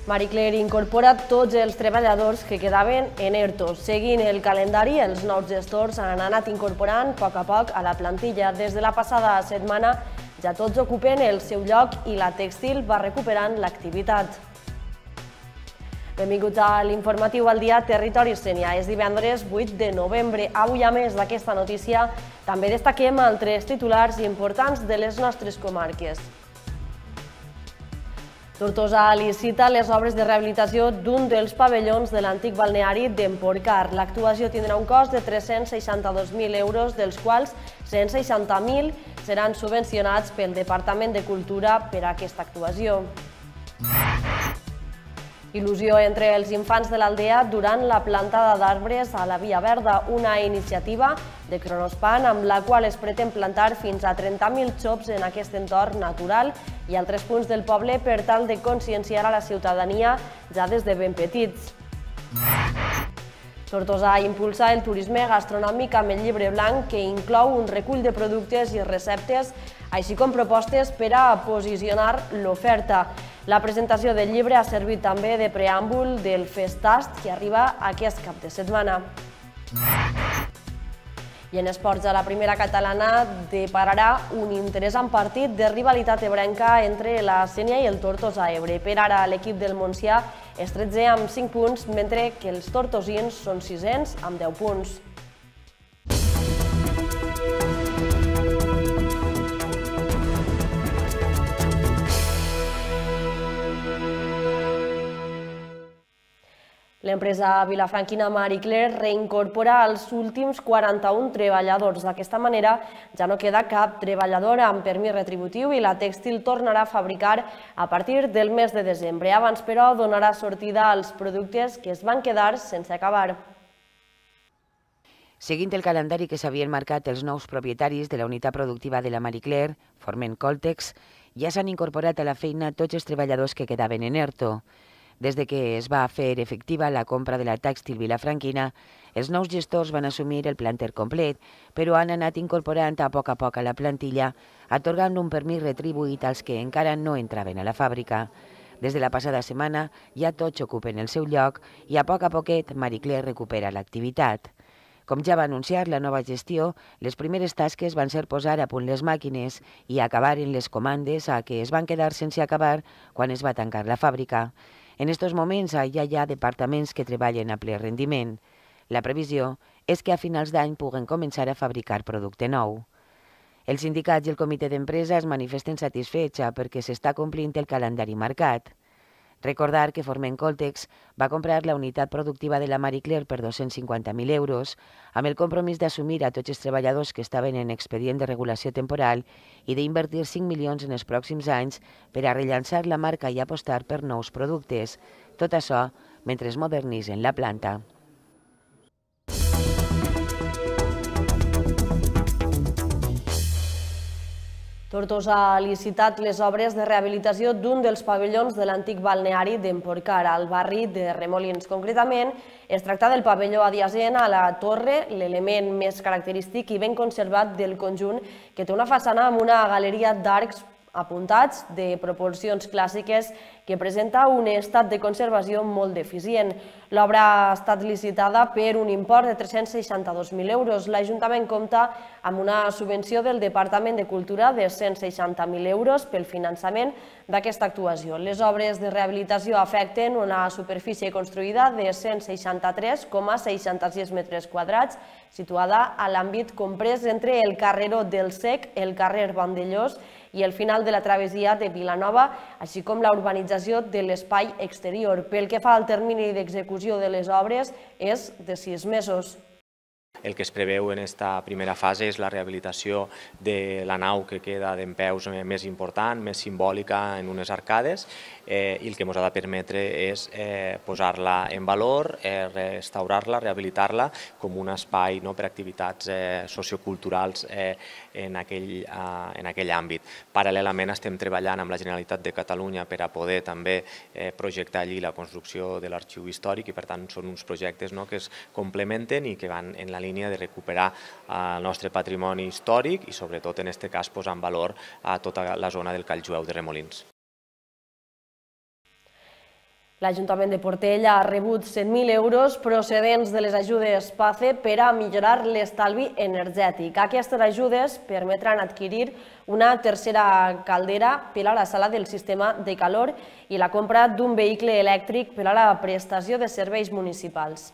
Marie Claire incorpora tots els treballadors que quedaven en ERTO. Seguint el calendari, els nous gestors han anat incorporant a poc a la plantilla. Des de la passada setmana ja tots ocupen el seu lloc i la tèxtil va recuperant l'activitat. Benvinguts a l'informatiu al dia Territori Sénia. És divendres 8 de novembre. Avui, a més d'aquesta notícia, també destaquem altres titulars importants de les nostres comarques. Tortosa licita les obres de rehabilitació d'un dels pavellons de l'antic balneari d'Emporcar. L'actuació tindrà un cost de 362.000 euros, dels quals 160.000 seran subvencionats pel Departament de Cultura per a aquesta actuació. Il·lusió entre els infants de l'aldea durant la plantada d'arbres a la Via Verda, una iniciativa de Cronospan amb la qual es pretén plantar fins a 30.000 xops en aquest entorn natural i altres punts del poble per tal de conscienciar a la ciutadania ja des de ben petits. Tortosa impulsa el turisme gastronòmic amb el llibre blanc que inclou un recull de productes i receptes, així com propostes per a posicionar l'oferta. La presentació del llibre ha servit també de preàmbul del Festast que arriba aquest cap de setmana. I en esports, a la primera catalana depararà un interessant partit de rivalitat ebrenca entre la Sénia i el Tortosa Ebre. Per ara, l'equip del Montsià és 13 amb 5 punts, mentre que els tortosins són 6ens amb 10 punts. L'empresa vilafranquina Marie Claire reincorpora els últims 41 treballadors. D'aquesta manera ja no queda cap treballador amb permís retributiu i la tèxtil tornarà a fabricar a partir del mes de desembre. Abans, però, donarà sortida als productes que es van quedar sense acabar. Seguint el calendari que s'havien marcat els nous propietaris de la unitat productiva de la Marie Claire, Forment Coltex, ja s'han incorporat a la feina tots els treballadors que quedaven en ERTO. Des que es va fer efectiva la compra de la tèxtil vilafranquina, els nous gestors van assumir el planter complet, però han anat incorporant a poc a la plantilla, atorgant un permís retribuït als que encara no entraven a la fàbrica. Des de la passada setmana ja tots ocupen el seu lloc i a poquet Marie Claire recupera l'activitat. Com ja va anunciar la nova gestió, les primeres tasques van ser posar a punt les màquines i acabar en les comandes a què es van quedar sense acabar quan es va tancar la fàbrica. En estos moments ja hi ha departaments que treballen a ple rendiment. La previsió és que a finals d'any puguen començar a fabricar producte nou. Els sindicats i el comitè d'empresa es manifesten satisfets perquè s'està complint el calendari marcat. Recordar que Forment Coltex va comprar la unitat productiva de la Marie Claire per 250.000 euros, amb el compromís d'assumir a tots els treballadors que estaven en expedient de regulació temporal i d'invertir 5 milions en els pròxims anys per a rellançar la marca i apostar per nous productes. Tot això mentre es modernitzen la planta. Tortosa ha licitat les obres de rehabilitació d'un dels pavellons de l'antic balneari d'Emporcar, al barri de Remolins. Concretament, es tracta del pavelló adjacent a la torre, l'element més característic i ben conservat del conjunt, que té una façana amb una galeria d'arcs apuntats de proporcions clàssiques que presenta un estat de conservació molt deficient. L'obra ha estat licitada per un import de 362.000 euros. L'Ajuntament compta amb una subvenció del Departament de Cultura de 160.000 euros pel finançament d'aquesta actuació. Les obres de rehabilitació afecten una superfície construïda de 163,66 metres quadrats, situada a l'àmbit comprès entre el carreró del Sec, el carrer Vandellós i el final de la travessia de Vilanova, així com la urbanització de l'espai exterior. Pel que fa al termini d'execució de les obres, és de 6 mesos. El que es preveu en aquesta primera fase és la rehabilitació de la nau que queda dempeus més important, més simbòlica en unes arcades, i el que ens ha de permetre és posar-la en valor, restaurar-la, rehabilitar-la com un espai per a activitats socioculturals en aquell àmbit. Paral·lelament estem treballant amb la Generalitat de Catalunya per a poder també projectar allí la construcció de l'arxiu històric i per tant són uns projectes que es complementen i que van en la línia de recuperar el nostre patrimoni històric i sobretot en aquest cas posar en valor a tota la zona del Call Jueu de Remolins. L'Ajuntament de Portell ha rebut 100.000 euros procedents de les ajudes PACE per a millorar l'estalvi energètic. Aquestes ajudes permetran adquirir una tercera caldera per a la sala del sistema de calor i la compra d'un vehicle elèctric per a la prestació de serveis municipals.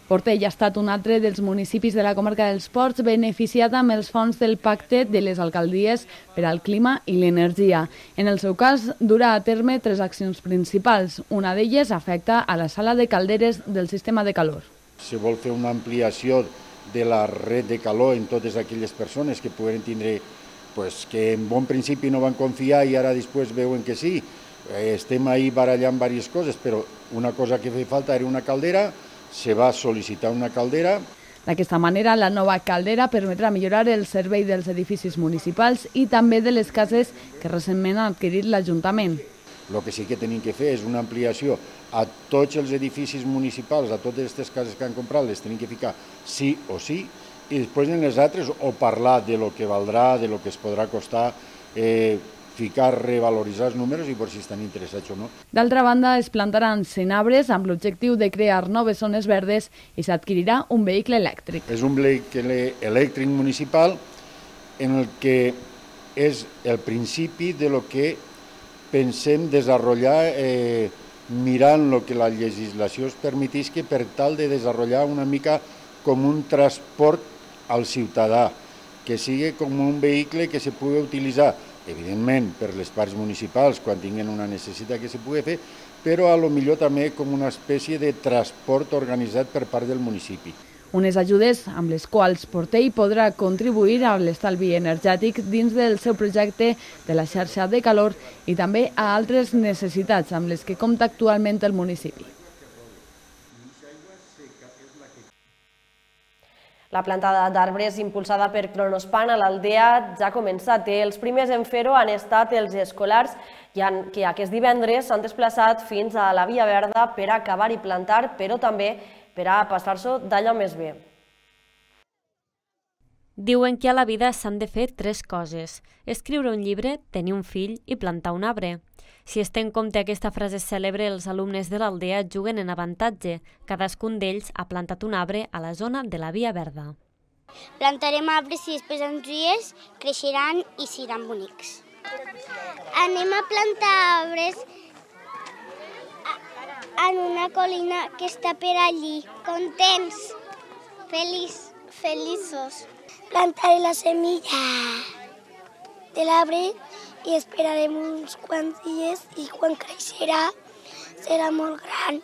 Portell ha estat un altre dels municipis de la comarca dels Ports beneficiat amb els fons del pacte de les alcaldies per al clima i l'energia. En el seu cas, durà a terme 3 accions principals. Una d'elles afecta a la sala de calderes del sistema de calor. Se vol fer una ampliació de la red de calor en totes aquelles persones que puguen tindre, que en bon principi no van confiar i ara després veuen que sí. Estem ahí barallant diverses coses, però una cosa que feia falta era una caldera. Se va sol·licitar una caldera. D'aquesta manera, la nova caldera permetrà millorar el servei dels edificis municipals i també de les cases que recentment ha adquirit l'Ajuntament. El que sí que tenim que fer és una ampliació a tots els edificis municipals, a totes aquestes cases que han comprat, les tenim que ficar sí o sí, i després en les altres o parlar de lo que valdrà, de lo que es podrà costar, revaloritzar els números i per si estan interessats o no. D'altra banda, es plantaran 100 arbres amb l'objectiu de crear noves zones verdes i s'adquirirà un vehicle elèctric. És un vehicle elèctric municipal en el que és el principi de lo que pensem desenvolupar mirant el que la legislació es permetisca per tal de desenvolupar una mica com un transport al ciutadà, que sigui com un vehicle que se pugui utilitzar evidentment per les parts municipals quan tinguin una necessitat que se pugui fer, però a lo millor també com una espècie de transport organitzat per part del municipi. Unes ajudes amb les quals Portell podrà contribuir a l'estalvi energètic dins del seu projecte de la xarxa de calor i també a altres necessitats amb les que compta actualment el municipi. La plantada d'arbres impulsada per Kronospan a l'Aldea ja ha començat. Els primers en fer-ho han estat els escolars que aquest divendres s'han desplaçat fins a la Via Verda per acabar i plantar, però també per a passar-s'ho d'allò més bé. Diuen que a la vida s'han de fer 3 coses: escriure un llibre, tenir un fill i plantar un arbre. Si es té en compte aquesta frase cèlebre, els alumnes de l'Aldea juguen en avantatge. Cadascun d'ells ha plantat un arbre a la zona de la Via Verda. Plantarem arbres i després en dies creixeran i seran bonics. Anem a plantar arbres en una colina que està per allí. Contents, feliços. Plantaré la semilla de l'arbre i esperarem uns quants dies i quan creixerà serà molt gran.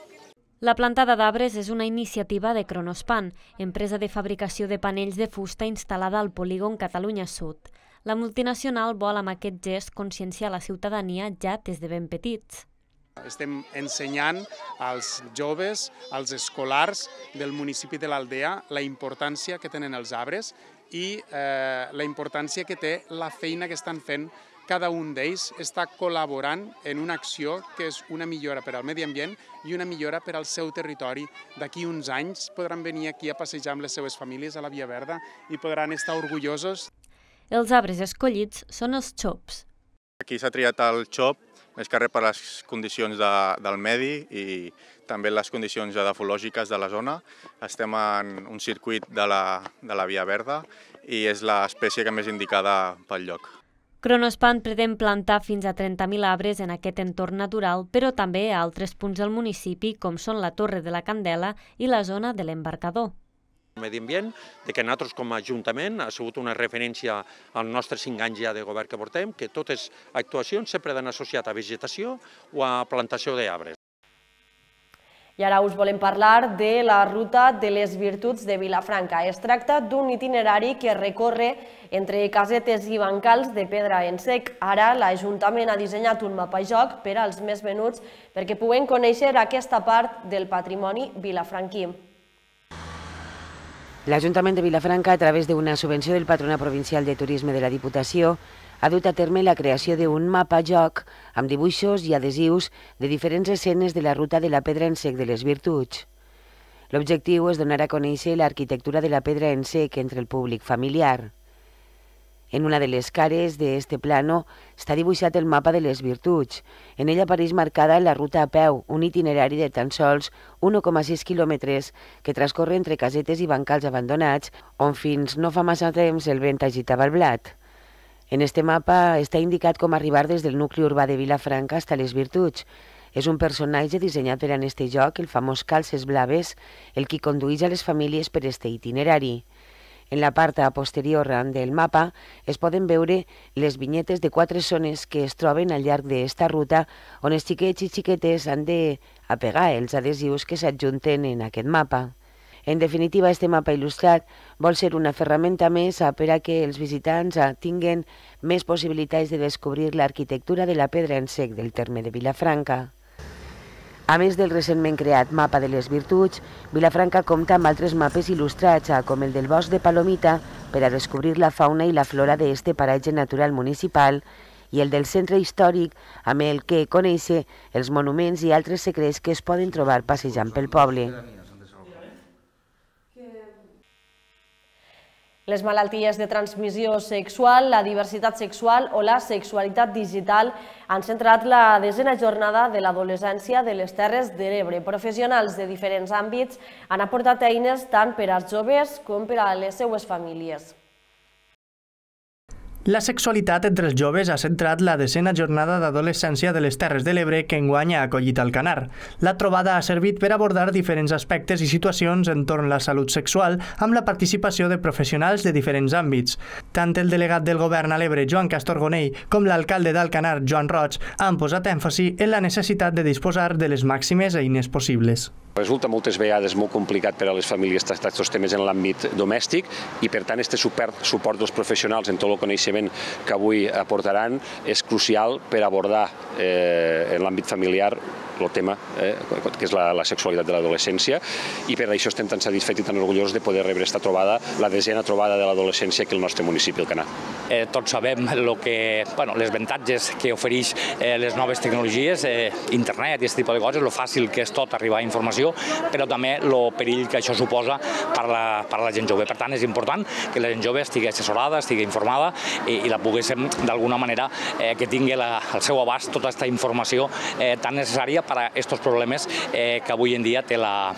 La plantada d'arbres és una iniciativa de Kronospan, empresa de fabricació de panells de fusta instal·lada al polígon Catalunya Sud. La multinacional vol amb aquest gest conscienciar la ciutadania ja des de ben petits. Estem ensenyant als joves, als escolars del municipi de l'Aldea la importància que tenen els arbres i la importància que té la feina que estan fent. Cada un d'ells està col·laborant en una acció que és una millora per al medi ambient i una millora per al seu territori. D'aquí uns anys podran venir aquí a passejar amb les seves famílies a la Via Verda i podran estar orgullosos. Els arbres escollits són els xops. Aquí s'ha triat el xop, més que res per les condicions del medi i també les condicions edafològiques de la zona. Estem en un circuit de la Via Verda i és l'espècie que més indicada pel lloc. Kronospan pretén plantar fins a 30.000 arbres en aquest entorn natural, però també a altres punts del municipi, com són la Torre de la Candela i la zona de l'Embarcador. El medi ambient, que nosaltres com a Ajuntament ha sigut una referència als nostres 5 anys ja de govern que portem, que totes actuacions sempre han associat a vegetació o a plantació d'arbres. I ara us volem parlar de la Ruta de les Virtuts de Vilafranca. Es tracta d'un itinerari que recorre entre casetes i bancals de pedra en sec. Ara l'Ajuntament ha dissenyat un mapajoc per als més venuts perquè puguem conèixer aquesta part del patrimoni vilafranquí. L'Ajuntament de Vilafranca, a través d'una subvenció del Patronat Provincial de Turisme de la Diputació, ha dut a terme la creació d'un mapajoc amb dibuixos i adhesius de diferents escenes de la Ruta de la Pedra en Sec de les Virtuts. L'objectiu és donar a conèixer l'arquitectura de la pedra en sec entre el públic familiar. En una de les cares d'este plano està dibuixat el mapa de les virtuts. En ell apareix marcada la ruta a peu, un itinerari de tan sols 1,6 quilòmetres que transcorre entre casetes i bancals abandonats on fins no fa massa temps el vent agitava el blat. En este mapa està indicat com arribar des del nucli urbà de Vilafranca fins a les virtuts. És un personatge dissenyat per a este joc, el famós Calces Blaves, el qui condueix a les famílies per este itinerari. En la part posterior del mapa es poden veure les vinyetes de 4 zones que es troben al llarg d'esta ruta on els xiquets i xiquetes han d'apegar els adhesius que s'adjunten en aquest mapa. En definitiva, este mapa il·lustrat vol ser una ferramenta més per a que els visitants tinguen més possibilitats de descobrir l'arquitectura de la pedra en sec del terme de Vilafranca. A més del recentment creat mapa de les virtuts, Vilafranca compta amb altres mapes il·lustrats, com el del bosc de Palomita, per a descobrir la fauna i la flora d'este paratge natural municipal, i el del centre històric, amb el que conèixer els monuments i altres secrets que es poden trobar passejant pel poble. Les malalties de transmissió sexual, la diversitat sexual o la sexualitat digital han centrat la 10a jornada de l'adolescència de les Terres de l'Ebre. Professionals de diferents àmbits han aportat eines tant per als joves com per a les seues famílies. La sexualitat entre els joves ha centrat la 10a jornada d'adolescència de les Terres de l'Ebre que enguany ha acollit Alcanar. La trobada ha servit per abordar diferents aspectes i situacions entorn la salut sexual amb la participació de professionals de diferents àmbits. Tant el delegat del govern a l'Ebre, Joan Castorgonell, com l'alcalde d'Alcanar, Joan Roig, han posat èmfasi en la necessitat de disposar de les màximes eines possibles. Resulta moltes vegades molt complicat per a les famílies tractar aquests temes en l'àmbit domèstic i, per tant, aquest suport dels professionals en tot el coneixement que avui aportaran és crucial per abordar en l'àmbit familiar el tema que és la sexualitat de l'adolescència i per això estem tan satisfets i tan orgullosos de poder rebre aquesta trobada, la 10a trobada de l'adolescència aquí al nostre municipi, Alcanar. Tots sabem les avantatges que ofereix les noves tecnologies, internet i aquest tipus de coses, el fàcil que és tot arribar a informació, però també el perill que això suposa per a la gent jove. Per tant, és important que la gent jove estigui assessorada, estigui informada i la poguéssim d'alguna manera que tingui al seu abast tota aquesta informació tan necessària per a aquests problemes que avui en dia té la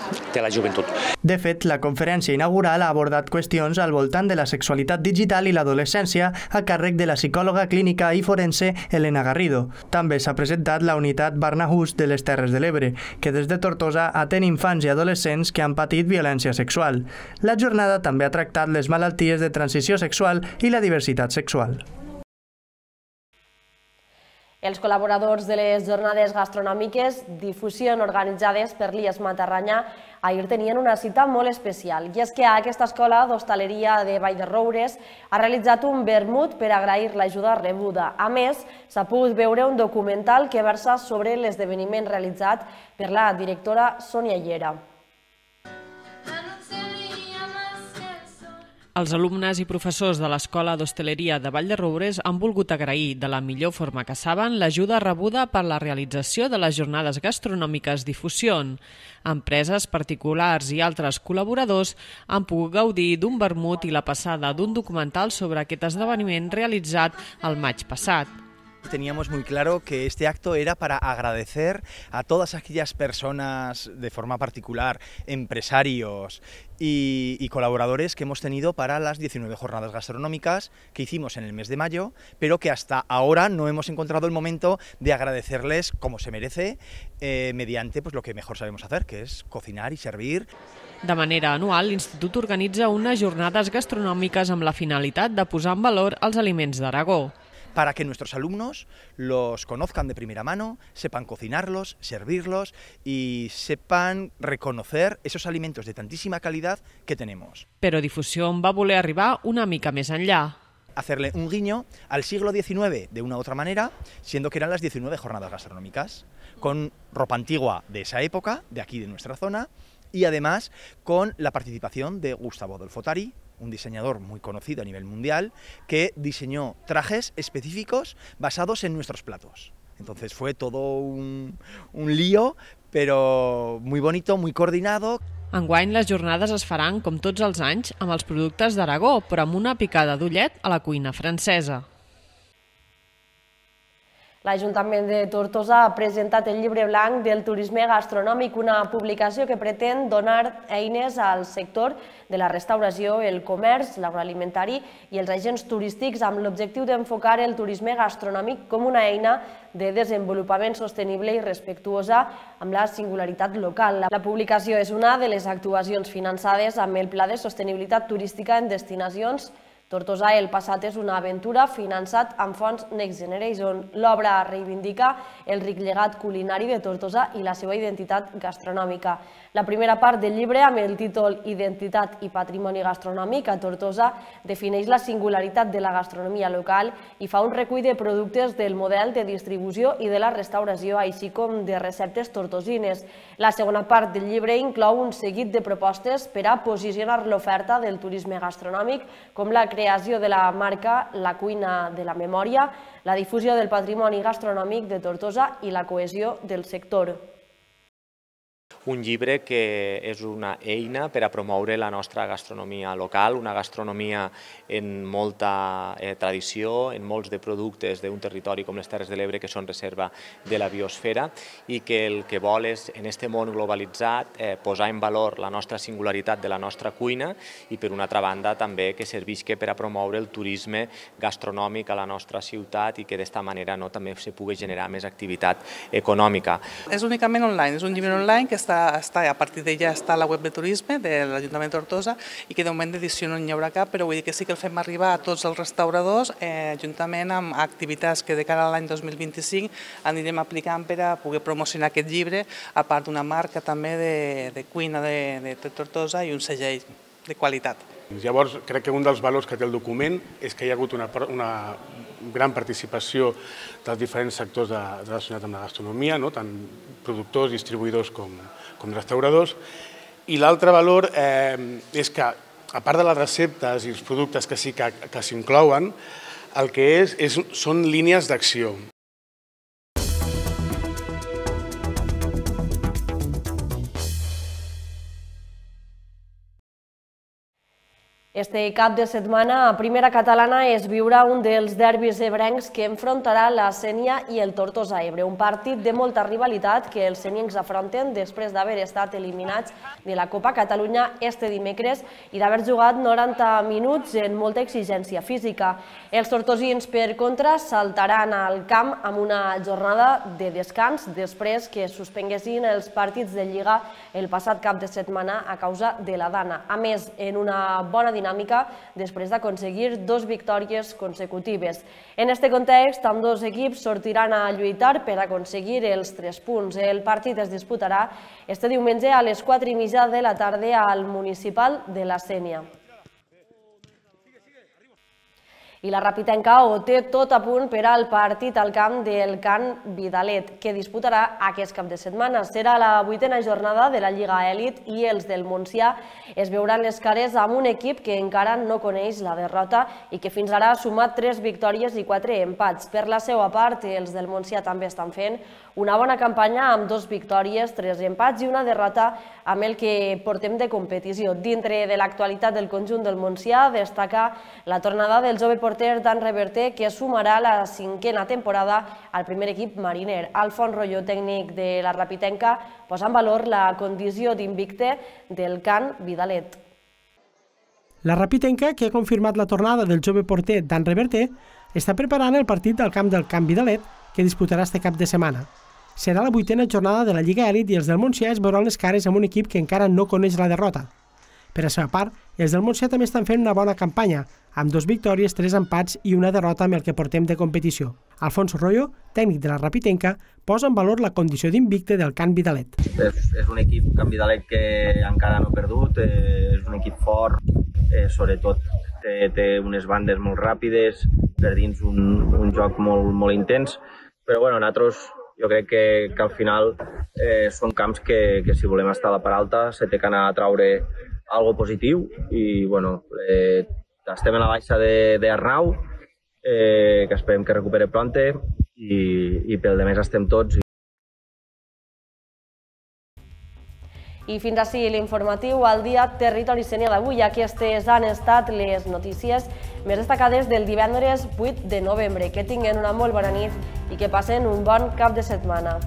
joventut. De fet, la conferència inaugural ha abordat qüestions al voltant de la sexualitat digital i l'adolescència a càrrec de la psicòloga clínica i forense Elena Garrido. També s'ha presentat la unitat Barnahus de les Terres de l'Ebre, que des de Tortosa atén infants i adolescents que han patit violència sexual. La jornada també ha tractat les malalties de transició sexual i la diversitat sexual. Els col·laboradors de les jornades gastronòmiques Difusió organitzades per l'IES Matarranya ahir tenien una cita molt especial. I és que aquesta escola d'hostaleria de Vall de Roures ha realitzat un vermut per agrair l'ajuda rebuda. A més, s'ha pogut veure un documental que versa sobre l'esdeveniment realitzat per la directora Sònia Llera. Els alumnes i professors de l'Escola d'Hostaleria de Vall de Roures han volgut agrair de la millor forma que saben l'ajuda rebuda per la realització de les jornades gastronòmiques Difusió. Empreses, particulars i altres col·laboradors han pogut gaudir d'un vermut i la passada d'un documental sobre aquest esdeveniment realitzat el maig passat. Teníamos muy claro que este acto era para agradecer a todas aquellas personas de forma particular, empresarios y colaboradores que hemos tenido para las 19 jornadas gastronómicas que hicimos en el mes de mayo, pero que hasta ahora no hemos encontrado el momento de agradecerles como se merece mediante lo que mejor sabemos hacer, que es cocinar y servir. De manera anual, l'Institut organitza unes jornades gastronòmiques amb la finalitat de posar en valor els aliments d'Aragó. Para que nuestros alumnos los conozcan de primera mano, sepan cocinarlos, servirlos y sepan reconocer esos alimentos de tantísima calidad que tenemos. Però Difusió va voler arribar una mica més enllà. Hacerle un guiño al siglo XIX de una u otra manera, siendo que eran las 19 jornadas gastronómicas, con ropa antigua de esa época, de aquí de nuestra zona, y además con la participación de Gustavo Dolfotari, un diseñador muy conocido a nivel mundial, que diseñó trajes específicos basados en nuestros platos. Entonces fue todo un lío, pero muy bonito, muy coordinado. Enguany les jornades es faran, com tots els anys, amb els productes d'Aragó, però amb una picada d'ullet a la cuina francesa. L'Ajuntament de Tortosa ha presentat el llibre blanc del turisme gastronòmic, una publicació que pretén donar eines al sector de la restauració, el comerç, l'agroalimentari i els agents turístics amb l'objectiu d'enfocar el turisme gastronòmic com una eina de desenvolupament sostenible i respectuosa amb la singularitat local. La publicació és una de les actuacions finançades amb el Pla de Sostenibilitat Turística en Destinacions Tortosa el passat és una aventura finançat amb fons Next Generation. L'obra reivindica el ric llegat culinari de Tortosa i la seva identitat gastronòmica. La primera part del llibre, amb el títol Identitat i patrimoni gastronòmic a Tortosa, defineix la singularitat de la gastronomia local i fa un recull de productes del model de distribució i de la restauració, així com de receptes tortosines. La segona part del llibre inclou un seguit de propostes per a posicionar l'oferta del turisme gastronòmic, com la creació de la marca La Cuina de la Memòria, la difusió del patrimoni gastronòmic de Tortosa i la cohesió del sector. Un llibre que és una eina per a promoure la nostra gastronomia local, una gastronomia en molta tradició, en molts de productes d'un territori com les Terres de l'Ebre que són reserva de la biosfera i que el que vol és, en aquest món globalitzat, posar en valor la nostra singularitat de la nostra cuina i, per una altra banda, també que servisca per a promoure el turisme gastronòmic a la nostra ciutat i que d'esta manera també se pugui generar més activitat econòmica. És únicament online, és un llibre online que a partir d'ella està a la web de turisme de l'Ajuntament de Tortosa i que de moment d'edició no n'hi haurà cap, però vull dir que sí que el fem arribar a tots els restauradors juntament amb activitats que de cara a l'any 2025 anirem aplicant per a poder promocionar aquest llibre, a part d'una marca també de cuina de Tortosa i un segell de qualitat. Llavors, crec que un dels valors que té el document és que hi ha hagut una gran participació dels diferents sectors relacionats amb la gastronomia, tant productors, distribuïdors com restauradors. I l'altre valor és que, a part de les receptes i els productes que sí que s'inclouen, el que són línies d'acció. Este cap de setmana a Primera Catalana es viurà un dels derbis ebrencs que enfrontarà la Sénia i el Tortosa Ebre, un partit de molta rivalitat que els seniencs afronten després d'haver estat eliminats de la Copa Catalunya este dimecres i d'haver jugat 90 minuts en molta exigència física. Els tortosins, per contra, saltaran al camp amb una jornada de descans després que es suspenguessin els partits de Lliga el passat cap de setmana a causa de la Dana. A més, en una bona dinàmica després d'aconseguir 2 victòries consecutives. En aquest context, ambdós equips sortiran a lluitar per aconseguir els 3 punts. El partit es disputarà este diumenge a les 4:30 de la tarda al Municipal de la Sénia. I la Rapitenca ho té tot a punt per al partit al camp del Can Vidalet, que disputarà aquest cap de setmana. Serà la 8a jornada de la Lliga Elit i els del Montsià es veuran les cares amb un equip que encara no coneix la derrota i que fins ara ha sumat 3 victòries i 4 empats. Per la seva part, els del Montsià també estan fent una bona campanya amb 2 victòries, 3 empats i una derrota amb el que portem de competició. Dintre de l'actualitat del conjunt del Montsià destaca la tornada del jove porter Dan Reverter, que sumarà la 5a temporada al primer equip mariner. Alfons Rolló, tècnic de la Rapitenca, posa en valor la condició d'invicte del Can Vidalet. La Rapitenca, que ha confirmat la tornada del jove porter Dan Reverter, està preparant el partit del camp del Can Vidalet, que disputarà este cap de setmana. Serà la 8a jornada de la Lliga Elit i els del Montsià es veuran les cares amb un equip que encara no coneix la derrota. Per la seva part, els del Montsià també estan fent una bona campanya, amb 2 victòries, 3 empats i una derrota amb el que portem de competició. Alfons Royo, tècnic de la Rapitenca, posa en valor la condició d'invicte del Can Vidalet. És un equip, Can Vidalet, que encara no ha perdut, és un equip fort, sobretot té unes bandes molt ràpides, per dins un joc molt intens, però nosaltres jo crec que al final són camps que si volem estar a la part alta se té que anar a traure algo positiu i estem a la baixa d'Arnau, que esperem que recupere pronte i pel demés estem tots. I fins ací l'informatiu al dia Territori Sénia d'avui. Aquestes han estat les notícies més destacades del divendres 8 de novembre. Que tinguen una molt bona nit i que passen un bon cap de setmana.